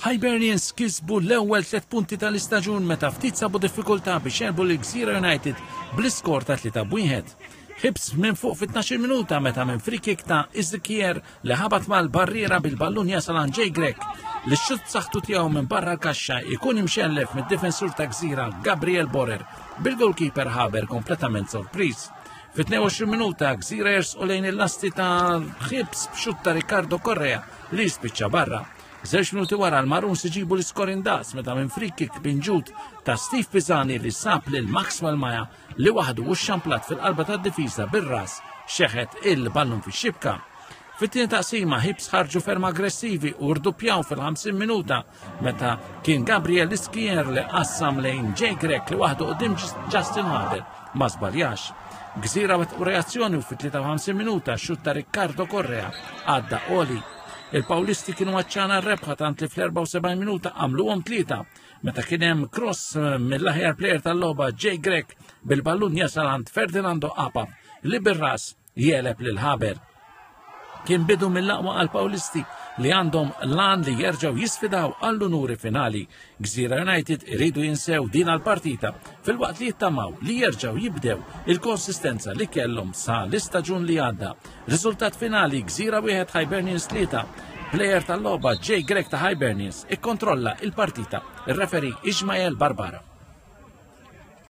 Hibernians kisbu l-ewwel tlet punti tal-istaġun meta ftit sabu diffikultà biex jerbu lil Gżira United bl-iskor ta' 3 b'wieħed. Hibs minn fuq fit-12 minuta meta minn free kick ta' Ezekiel li ħabat mal-barriera bil-ballun jasal għand Jay Grech li x-xutt saħtu tiegħu minn barra l-kaxxa jkun imxellef mid-difensur ta' Gżira Gabriel Borer bil-goalkeeper Haber kompletament sorpriż. Fit-22 minuta Gżira jersqu lejn il-lasti ta' Hibs b'xutt ta' Ricardo Correa li jispiċċa barra. Żewġ minuti wara l-Maroons iġibu l-iskor indaqs meta minn free kick binġut ta' Steve Pisani li sab lil Maxwell Maja li waħdu u xamplat fil-qalba tad-difiża bir-ras xeħet il-ballun fix-xibka. Fit-tieni taqsima Hibs ħarġu ferm aggressivi u rduppjaw fil-50 minuta meta kien Gabriel Iskier li qassam lejn Jay Grech li waħdu qudiem Justin Haber ma żbaljax. Gżira wet u reazzjoni u fit-53 minuta xut ta' Riccardo Correa għadda oli. Il-Pawlisti kienu għacċana r-rebħa tant li fl-74 minuta għamluhom tlieta meta kien hemm cross eh, mill-aħjar player tal-logħba Jay Grech bil-ballun jasal għand Ferdinando Apa li bir-ras jeleb lil Haber. Kien bidu mill-aqwa għal Pawlisti li għandhom lan li jerġgħu jisfidaw għall-unuri finali. Gżira United iridu jinsew din għal-partita filwaqt li jittamaw li jerġgħu jibdew il-konsistenza li kellhom sa l-istaġun li għadda. Riżultat finali Gżira wieħed Hibernians tlieta. Player tal-logħba Jay Grech ta' Hibernians ikkontrolla il-partita. Ir-referi Ismael Barbara.